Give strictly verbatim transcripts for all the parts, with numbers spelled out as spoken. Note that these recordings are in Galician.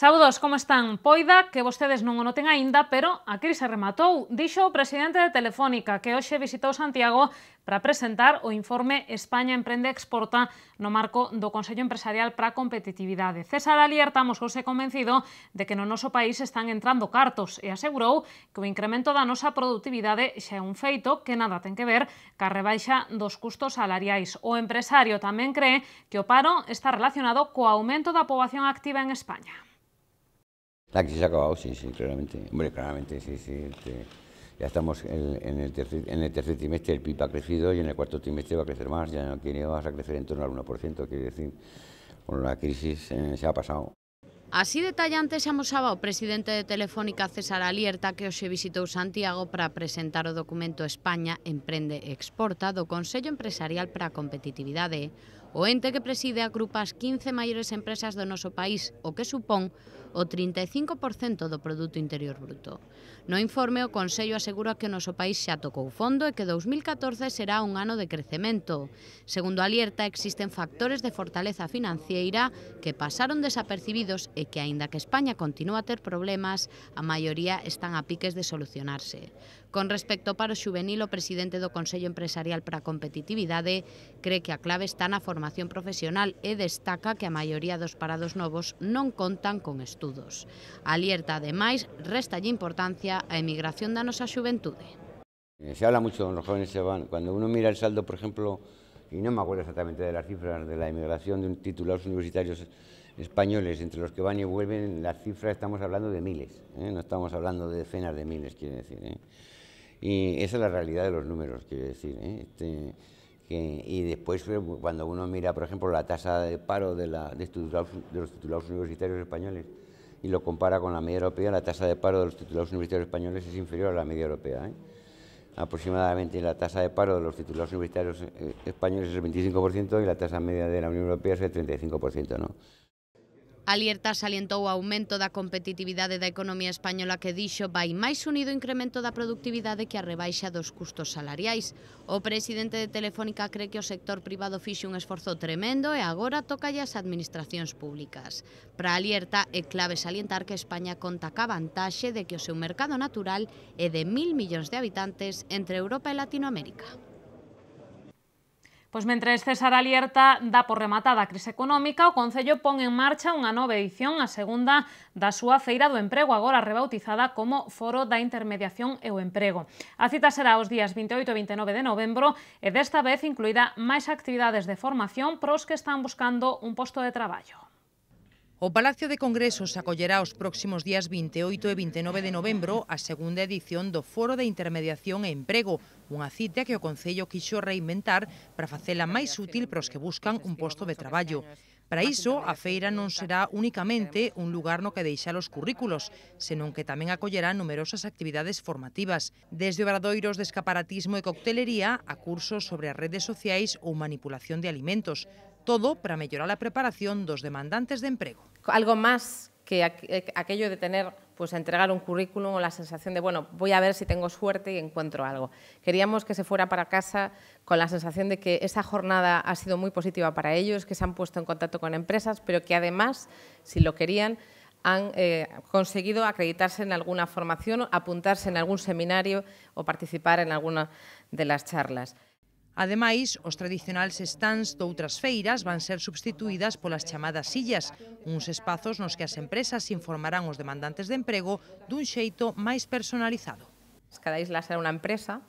Saúdos, como están? Poida que vostedes non o noten aínda, pero a crise rematou. Dixo o presidente de Telefónica que hoxe visitou Santiago para presentar o informe España Emprende Exporta no marco do Consello Empresarial para a Competitividade. César Alierta mosouse convencido de que no noso país están entrando cartos e asegurou que o incremento da nosa produtividade xa é un feito que nada ten que ver ca rebaixa dos custos salariais. O empresario tamén cree que o paro está relacionado co aumento da poboación activa en España. La crisis ha acabado, sí, sí, claramente. Hombre, claramente, sí, sí. Este, ya estamos en, en, el tercer, en el tercer trimestre, el P I B ha crecido y en el cuarto trimestre va a crecer más. Ya no quiere, vas a crecer en torno al uno por ciento, quiere decir, con la crisis eh, se ha pasado. Así detallante se amosaba o presidente de Telefónica, César Alierta, que hoxe visitou Santiago para presentar o documento España Emprende Exporta do Consello Empresarial para a Competitividade. O ente que preside agrupa as quince maiores empresas do noso país, o que supón o trinta e cinco por cento do Produto Interior Bruto. No informe, o Consello asegura que o noso país xa tocou fondo e que dous mil catorce será un ano de crecemento. Segundo Alierta, existen factores de fortaleza financiera que pasaron desapercibidos e que, aínda que España continúa a ter problemas, a maioría están a piques de solucionarse. Con respecto ao paro xuvenil, o presidente do Consello Empresarial para a Competitividade cree que a clave está na formación profesional e destaca que a maioría dos parados novos non contan con estudos. Alierta, ademais, réstalle importancia á emigración da nosa xuventude. Se habla mucho, los jóvenes se van. Cuando uno mira el saldo, por ejemplo, y no me acuerdo exactamente de las cifras de la emigración de titulados universitarios españoles, entre los que van y vuelven, las cifras estamos hablando de miles, ¿eh? No estamos hablando de decenas de miles, quiere decir, ¿eh? Y esa es la realidad de los números, quiero decir, ¿eh? Este, que, y después, cuando uno mira, por ejemplo, la tasa de paro de, la, de, titulados, de los titulados universitarios españoles y lo compara con la media europea, la tasa de paro de los titulados universitarios españoles es inferior a la media europea, ¿eh? Aproximadamente la tasa de paro de los titulados universitarios españoles es el veinticinco por ciento y la tasa media de la Unión Europea es el treinta y cinco por ciento, ¿no? Alierta salientou o aumento da competitividade da economía española que dixo vai máis unido ao incremento da productividade que a rebaixa dos custos salariais. O presidente de Telefónica cree que o sector privado fixe un esforzo tremendo e agora tocalle ás administracións públicas. Para Alierta é clave salientar que España conta ca vantaxe de que o seu mercado natural é de mil millóns de habitantes entre Europa e Latinoamérica. Pois mentres César Alierta dá por rematada a crise económica, o Concello pon en marcha unha nova edición, a segunda da súa Feira do Emprego, agora rebautizada como Foro da Intermediación e o Emprego. A cita será os días vinte e oito e vinte e nove de novembro e desta vez incluirá máis actividades de formación para os que están buscando un posto de traballo. O Palacio de Congresos acollerá os próximos días vinte e oito e vinte e nove de novembro a segunda edición do Foro de Intermediación e Emprego, unha cita que o Concello quixo reinventar para facela máis útil para os que buscan un posto de traballo. Para iso, a feira non será únicamente un lugar no que deixar os currículos, senón que tamén acollerá numerosas actividades formativas, desde obradoiros de escaparatismo e coctelería a cursos sobre as redes sociais ou manipulación de alimentos, todo para mellorar a preparación dos demandantes de emprego. Algo más que aquello de tener, pues entregar un currículum o la sensación de, bueno, voy a ver si tengo suerte y encuentro algo. Queríamos que se fuera para casa con la sensación de que esa jornada ha sido muy positiva para ellos, que se han puesto en contacto con empresas, pero que además, si lo querían, han eh, conseguido acreditarse en alguna formación, apuntarse en algún seminario o participar en alguna de las charlas. Ademais, os tradicionais stands doutras feiras van ser substituídas polas chamadas sillas, uns espazos nos que as empresas informarán os demandantes de emprego dun xeito máis personalizado. Cada isla será una empresa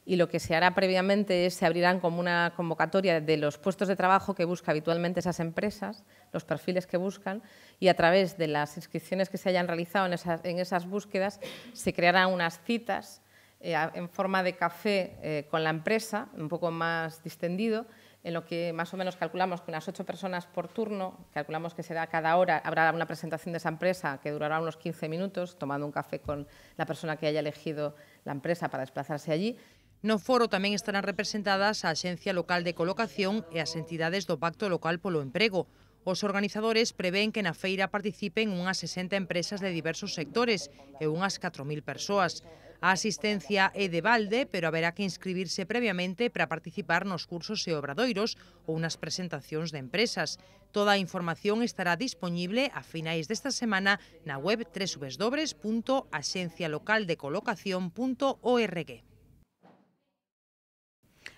y lo que se hará previamente es se abrirán como una convocatoria de los puestos de trabajo que buscan habitualmente esas empresas, los perfiles que buscan, y a través de las inscripciones que se hayan realizado en esas, en esas búsquedas se crearán unas citas Eh, en forma de café eh, con la empresa, un poco más distendido, en lo que más o menos calculamos que unas ocho personas por turno, calculamos que será cada hora, habrá una presentación de esa empresa que durará unos quince minutos, tomando un café con la persona que haya elegido la empresa para desplazarse allí. No foro tamén estarán representadas a Axencia Local de Colocación e as entidades do Pacto Local polo Emprego. Os organizadores prevén que na feira participen unhas sesenta empresas de diversos sectores e unhas catro mil persoas. A asistencia é de balde, pero haberá que inscribirse previamente para participar nos cursos e obradoiros ou nas presentacións de empresas. Toda a información estará dispoñible a finais desta semana na web doble u doble u doble u punto axencia local de colocación punto org.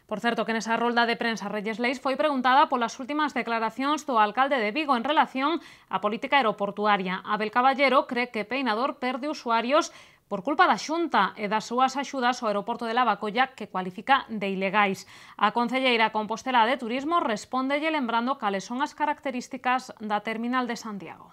Por certo, que nesa rolda de prensa Reyes Leis foi preguntada polas últimas declaracións do alcalde de Vigo en relación á política aeroportuaria. Abel Caballero cree que Peinador perde usuarios por culpa da Xunta e das súas axudas ao aeroporto de Lavacolla que cualifica de ilegais. A concelleira compostelá de Turismo respóndelle lembrando cales son as características da terminal de Santiago.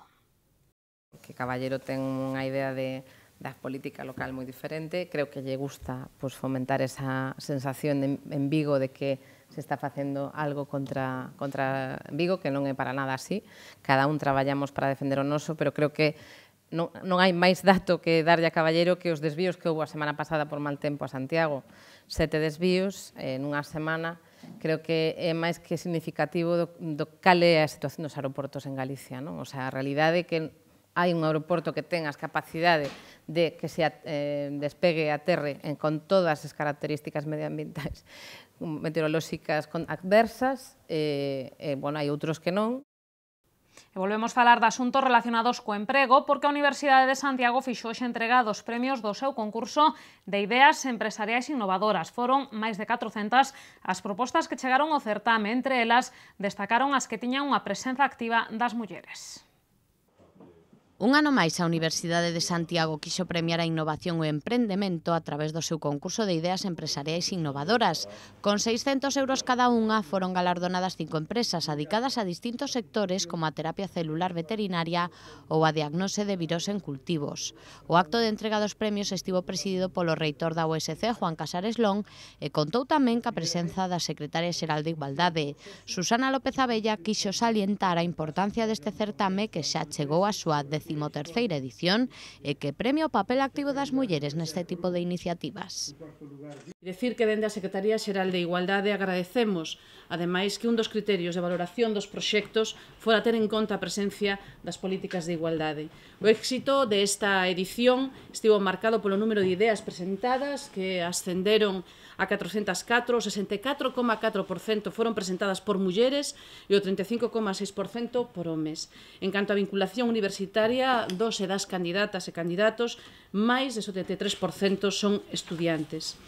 Que Caballero ten unha idea de da política local moi diferente, creo que lle gusta pues, fomentar esa sensación de, en Vigo de que se está facendo algo contra, contra Vigo, que non é para nada así. Cada un traballamos para defender o noso, pero creo que non, non hai máis dato que darlle a Caballero que os desvíos que houve a semana pasada por mal tempo a Santiago. Sete desvíos eh, nunha semana, creo que é máis que significativo do, do cal é a situación dos aeroportos en Galicia, non? O sea, a realidade é que hai un aeroporto que ten as capacidades de que se eh, despegue a terre en, con todas as características medioambientais meteorolóxicas adversas, e, eh, bueno, hai outros que non. E volvemos a falar de asuntos relacionados co emprego, porque a Universidade de Santiago fixo hoxe entrega dos premios do seu concurso de ideas empresariais innovadoras. Foron máis de catrocentas as propostas que chegaron ao certame, entre elas destacaron as que tiñan unha presenza activa das mulleres. Un ano máis a Universidade de Santiago quixo premiar a innovación e o emprendemento a través do seu concurso de ideas empresariais innovadoras. Con seiscentos euros cada unha foron galardonadas cinco empresas adicadas a distintos sectores como a terapia celular veterinaria ou a diagnose de virus en cultivos. O acto de entrega dos premios estivo presidido polo reitor da U S C, Juan Casares Lón, e contou tamén ca presenza da secretaria xeral de Igualdade. Susana López Abella quixo salientar a importancia deste certame que xa chegou a súa decimoterceira edición e que premia o papel activo das mulleres neste tipo de iniciativas. Decir que dende a Secretaría Xeral de Igualdade agradecemos, ademais, que un dos criterios de valoración dos proxectos fora ter en conta a presencia das políticas de igualdade. O éxito desta edición estivo marcado polo número de ideas presentadas, que ascenderon a catrocentas catro, o sesenta e catro coma catro por cento foron presentadas por mulleres e o trinta e cinco coma seis por cento por homes. En canto á vinculación universitaria dos e das candidatas e candidatos, máis de setenta e tres por cento son estudiantes.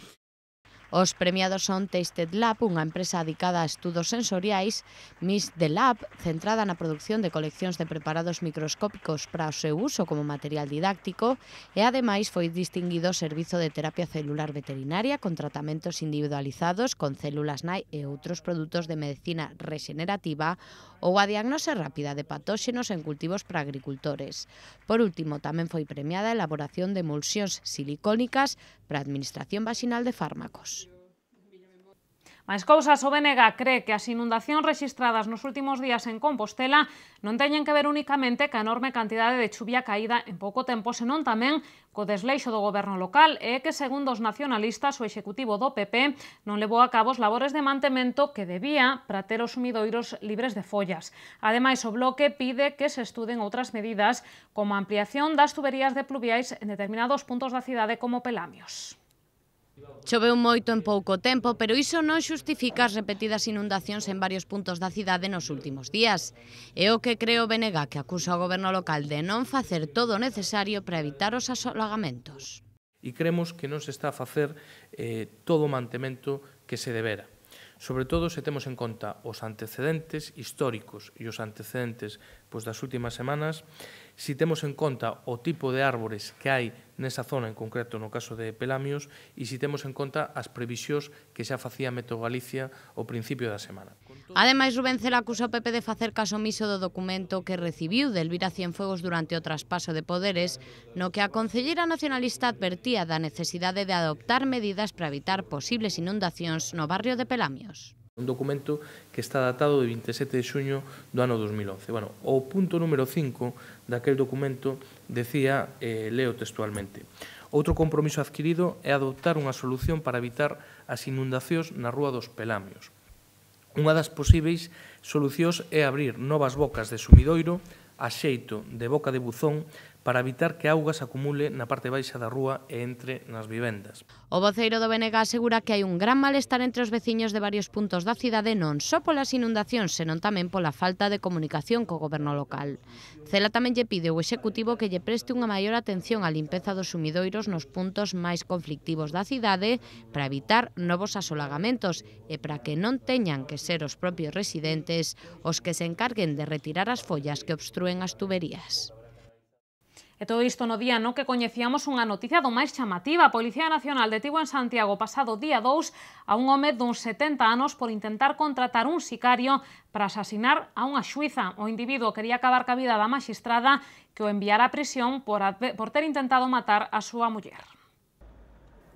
Os premiados son Tasted Lab, unha empresa dedicada a estudos sensoriais, Miss The Lab, centrada na produción de coleccións de preparados microscópicos para o seu uso como material didáctico, e ademais foi distinguido o servizo de terapia celular veterinaria con tratamentos individualizados con células nai e outros produtos de medicina regenerativa, ou a diagnose rápida de patóxenos en cultivos para agricultores. Por último, tamén foi premiada a elaboración de emulsións silicónicas para a administración vaginal de fármacos. Mais cousas, o B N G cree que as inundacións rexistradas nos últimos días en Compostela non teñen que ver únicamente ca enorme cantidade de chuvia caída en pouco tempo, senón tamén co desleixo do goberno local, e que, segundo os nacionalistas, o executivo do P P non levou a cabo os labores de mantemento que debía para ter os sumidoiros libres de follas. Ademais, o Bloque pide que se estuden outras medidas, como a ampliación das tuberías de pluviais en determinados puntos da cidade como Pelamios. Choveu moito en pouco tempo, pero iso non xustifica as repetidas inundacións en varios puntos da cidade nos últimos días. É o que cree o B N G, que acusa o goberno local de non facer todo o necesario para evitar os asolagamentos. E creemos que non se está a facer eh, todo o mantemento que se debera. Sobre todo se temos en conta os antecedentes históricos e os antecedentes pois, das últimas semanas, si temos en conta o tipo de árbores que hai nesa zona, en concreto no caso de Pelamios, e si temos en conta as previsións que xa facía Meteo Galicia ao principio da semana. Ademais, Rubén Cela acusa o P P de facer caso omiso do documento que recibiu de Elvira Cienfuegos durante o traspaso de poderes, no que a concelleira nacionalista advertía da necesidade de adoptar medidas para evitar posibles inundacións no barrio de Pelamios. Un documento que está datado de vinte e sete de xuño do ano dos mil once. Bueno, o punto número cinco daquel documento decía, eh, leo textualmente: outro compromiso adquirido é adoptar unha solución para evitar as inundacións na Rúa dos Pelamios. Unha das posíveis solucións é abrir novas bocas de sumidoiro a xeito de boca de buzón para evitar que a auga se acumule na parte baixa da rúa e entre nas vivendas. O voceiro do B N G asegura que hai un gran malestar entre os veciños de varios puntos da cidade non só polas inundacións, senón tamén pola falta de comunicación co goberno local. Cela tamén lle pide ao Executivo que lle preste unha maior atención á limpeza dos sumidoiros nos puntos máis conflictivos da cidade para evitar novos asolagamentos e para que non teñan que ser os propios residentes os que se encarguen de retirar as follas que obstrúen as tuberías. E todo isto no día no que coñecíamos unha noticia do máis chamativa. A Policía Nacional detivo en Santiago pasado día dous a un home duns setenta anos por intentar contratar un sicario para asasinar a unha xuíza. O individuo quería acabar ca vida da maxistrada que o enviara a prisión por, por ter intentado matar a súa muller.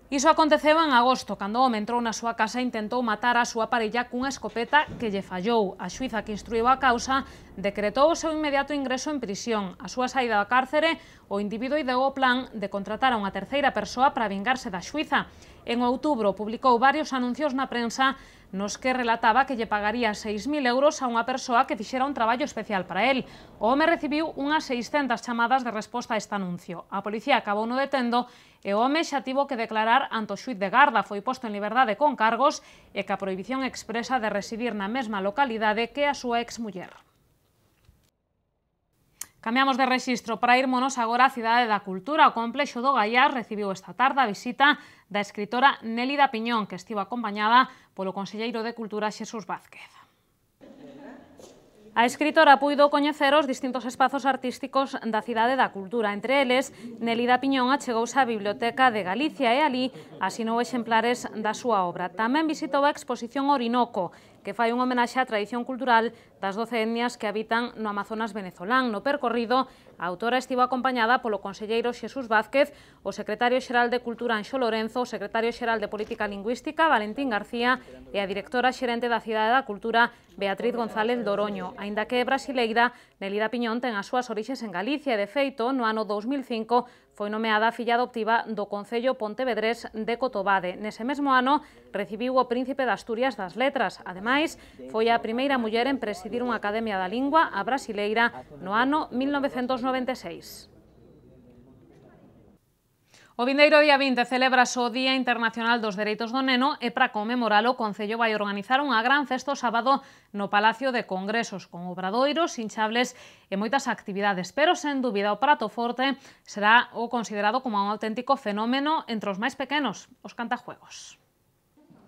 Iso aconteceu en agosto, cando o home entrou na súa casa e intentou matar a súa parella cunha escopeta que lle fallou. A xuíza que instruiu a causa decretou o seu inmediato ingreso en prisión. A súa saída do cárcere, o individuo ideou o plan de contratar a unha terceira persoa para vingarse da xuíza. En outubro publicou varios anuncios na prensa nos que relataba que lle pagaría seis mil euros a unha persoa que fixera un traballo especial para el. O home recibiu unhas seiscentas chamadas de resposta a este anuncio. A policía acabou no detendo e o home xa tivo que declarar ante o xuíz de garda. Foi posto en liberdade con cargos e ca prohibición expresa de residir na mesma localidade que a súa exmuller. Cambiamos de rexistro para irmonos agora á Cidade da Cultura. O Complexo do Gaiás recibiu esta tarde a visita da escritora Nélida Piñón, que estivo acompañada polo conselleiro de Cultura Xesús Vázquez. A escritora puido coñecer os distintos espazos artísticos da Cidade da Cultura. Entre eles, Nélida Piñón achegouse á Biblioteca de Galicia e alí asinou exemplares da súa obra. Tamén visitou a exposición Orinoco, que fai un homenaxe á tradición cultural das doce etnias que habitan no Amazonas venezolán. No percorrido, a autora estivo acompañada polo conselleiro Xesús Vázquez, o secretario xeral de Cultura Anxo Lorenzo, o secretario xeral de Política Lingüística Valentín García e a directora xerente da Cidade da Cultura Beatriz González Doroño. Aínda que é brasileira, Nélida Piñón ten as súas orixes en Galicia e, de feito, no ano dous mil cinco foi nomeada filla adoptiva do Concello pontevedrés de Cotobade. Nese mesmo ano recibiu o Príncipe de Asturias das Letras. Ademais, foi a primeira muller en presidir unha Academia da Lingua, a brasileira, no ano mil novecentos noventa e seis. O vindeiro día vinte celebrase o Día Internacional dos Dereitos do Neno e para conmemoralo o Concello vai organizar unha gran festa o sábado no Palacio de Congresos con obradoiros, hinchables e moitas actividades, pero sen dúbida o prato forte será o considerado como un auténtico fenómeno entre os máis pequenos, os cantajuegos.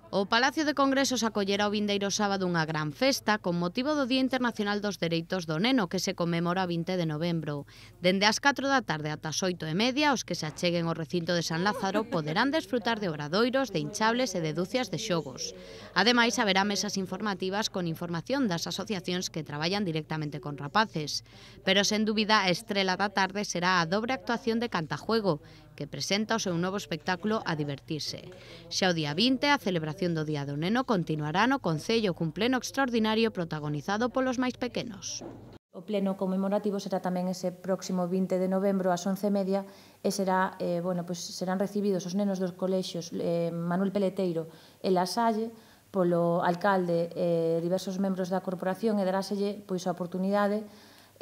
O Palacio de Congresos acollerá o vindeiro sábado unha gran festa con motivo do Día Internacional dos Dereitos do Neno que se conmemora o vinte de novembro. Dende as catro da tarde ata as oito e media, os que se acheguen ao recinto de San Lázaro poderán desfrutar de obradoiros, de hinchables e de dúcias de xogos. Ademais, haberá mesas informativas con información das asociacións que traballan directamente con rapaces. Pero, sen dúbida, a estrela da tarde será a dobre actuación de Cantajuego, que presenta o seu novo espectáculo A Divertirse. Xa o día vinte, a celebración do Día do Neno continuará no Concello cun pleno extraordinario protagonizado polos máis pequenos. O pleno conmemorativo será tamén ese próximo vinte de novembro ás once e media e será, eh, bueno, pues serán recibidos os nenos dos colexios eh, Manuel Peleteiro e La Salle polo alcalde e eh, diversos membros da corporación e daráselle pois, a oportunidade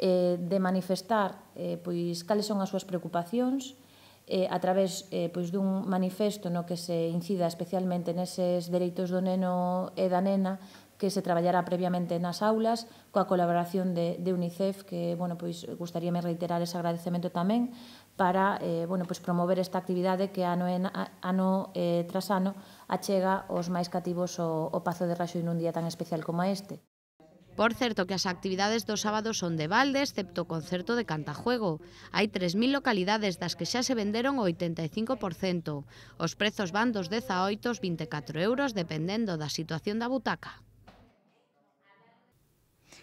eh, de manifestar eh, pois, cales son as súas preocupacións eh, a través eh, pois, dun manifesto no que se incida especialmente neses dereitos do neno e da nena que se traballará previamente nas aulas coa colaboración de, de UNICEF que, bueno, pois, gustaríame reiterar ese agradecemento tamén para eh, bueno, pois, promover esta actividade que ano, en, ano eh, tras ano achega os máis cativos o, o Pazo de Raxoi nun día tan especial como este. Por certo que as actividades do sábado son de balde, excepto o concerto de Cantajuego. Hai tres mil localidades das que xa se venderon o oitenta e cinco por cento. Os prezos van dos dezaoito aos vinte e catro euros, dependendo da situación da butaca.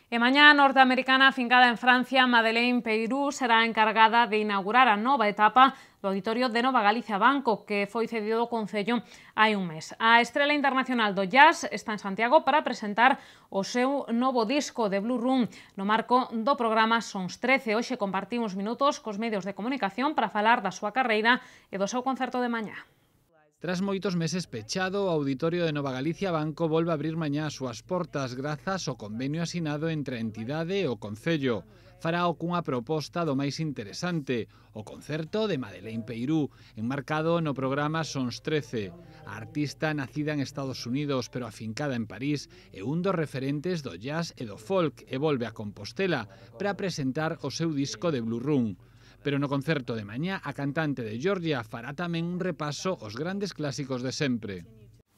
E mañá a norteamericana afincada en Francia, Madeleine Peyrou, será encargada de inaugurar a nova etapa do auditorio de Nova Galicia Banco, que foi cedido ao Concello hai un mes. A estrela internacional do jazz está en Santiago para presentar o seu novo disco de Blue Room no marco do programa Sons trece. Hoxe compartimos minutos cos medios de comunicación para falar da súa carreira e do seu concerto de mañá. Tras moitos meses pechado, o Auditorio de Nova Galicia Banco volve a abrir mañá as súas portas grazas ao convenio asinado entre a entidade e o Concello. Farao cunha proposta do máis interesante, o concerto de Madeleine Peirou, enmarcado no programa Sons trece. A artista, nacida en Estados Unidos pero afincada en París, é un dos referentes do jazz e do folk e volve a Compostela para presentar o seu disco de Blue Room. Pero no concerto de mañá, a cantante de Georgia fará tamén un repaso aos grandes clásicos de sempre.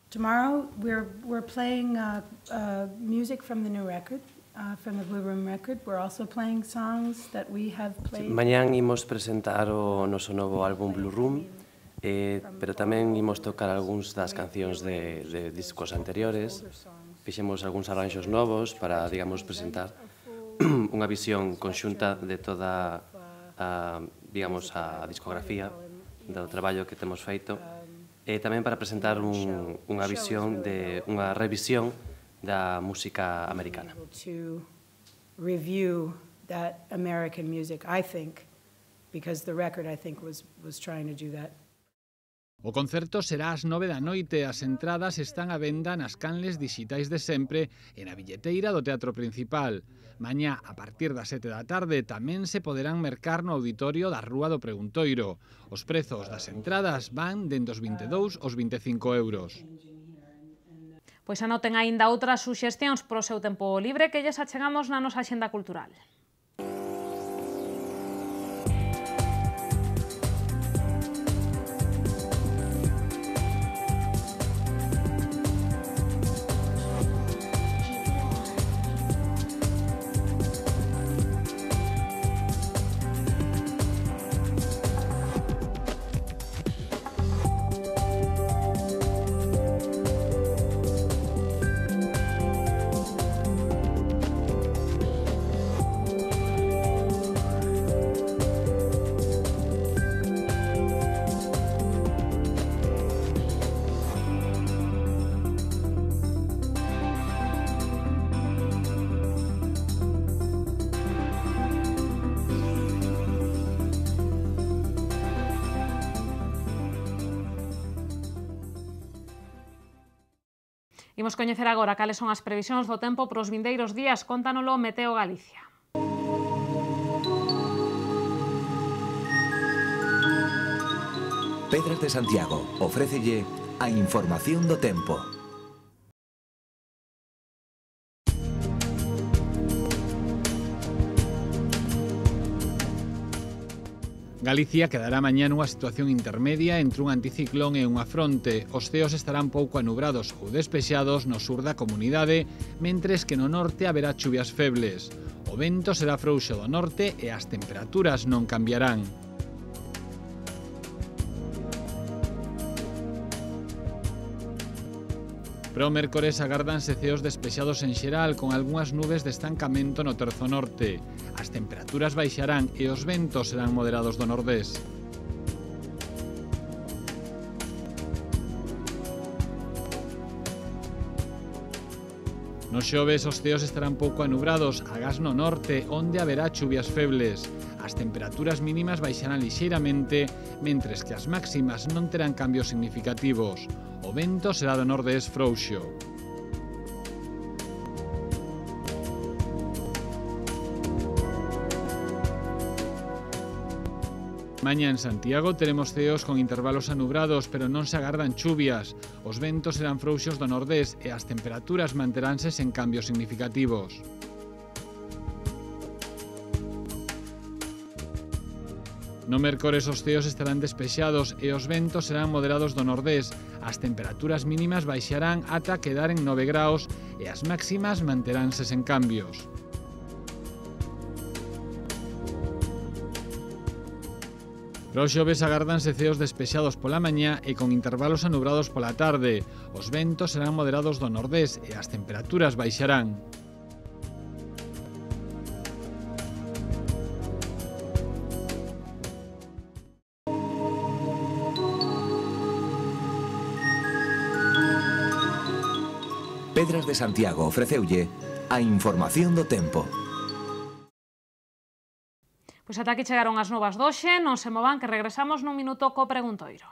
Tomorrow we're, we're playing uh, uh, music from the new record, uh, from the Blue Room record. We're also playing songs that we have played. Mañán imos presentar o noso novo álbum Blue Room, eh, pero tamén imos tocar algúns das cancións de, de discos anteriores. Fixemos algúns arranxos novos para, digamos, presentar unha visión conxunta de toda a, digamos, a discografía do traballo que temos feito, e tamén para presentar un, unha visión de unha revisión da música americana. To review that American music, I think, because the record I think was was trying to do that. O concerto será ás nove da noite. As entradas están á venda nas canles digitais de sempre e na billeteira do Teatro Principal. Mañá, a partir das sete da tarde, tamén se poderán mercar no auditorio da Rúa do Preguntoiro. Os prezos das entradas van dende os vinte e dous aos vinte e cinco euros. Pois anoten aínda outras suxestións pro seu tempo libre que lles achegamos na nosa axenda cultural. Imos coñecer agora cales son as previsións do tempo para os vindeiros días. Cóntanolo Meteo Galicia. Pedras de Santiago ofrécelle a información do tempo. Galicia quedará mañá nunha situación intermedia entre un anticiclón e unha fronte. Os ceos estarán pouco anubrados ou despexados no sur da comunidade, mentres que no norte haberá chuvias febles. O vento será frouxo do norte e as temperaturas non cambiarán. Para o mércores agárdanse ceos despexados en xeral con algunhas nubes de estancamento no terzo norte. As temperaturas baixarán e os ventos serán moderados do nordés. Nos xoves os ceos estarán pouco anubrados, agás no norte, onde haberá chuvias febles. As temperaturas mínimas baixarán lixeiramente, mentres que as máximas non terán cambios significativos. O vento será do nordés frouxo. Mañá en Santiago teremos ceos con intervalos anubrados, pero non se agardan chuvias. Os ventos serán frouxos do nordés e as temperaturas manteránse sen cambios significativos. No mércores os ceos estarán despexados e os ventos serán moderados do nordés. As temperaturas mínimas baixarán ata quedar en nove graus e as máximas manteránse sen cambios. Para os xoves agárdanse ceos despexados pola mañá e con intervalos anubrados pola tarde. Os ventos serán moderados do nordés e as temperaturas baixarán. Pedras de Santiago ofreceulle a información do tempo. Pois ata aquí chegaron as novas doxe, non se movan que regresamos nun minuto co preguntoiro.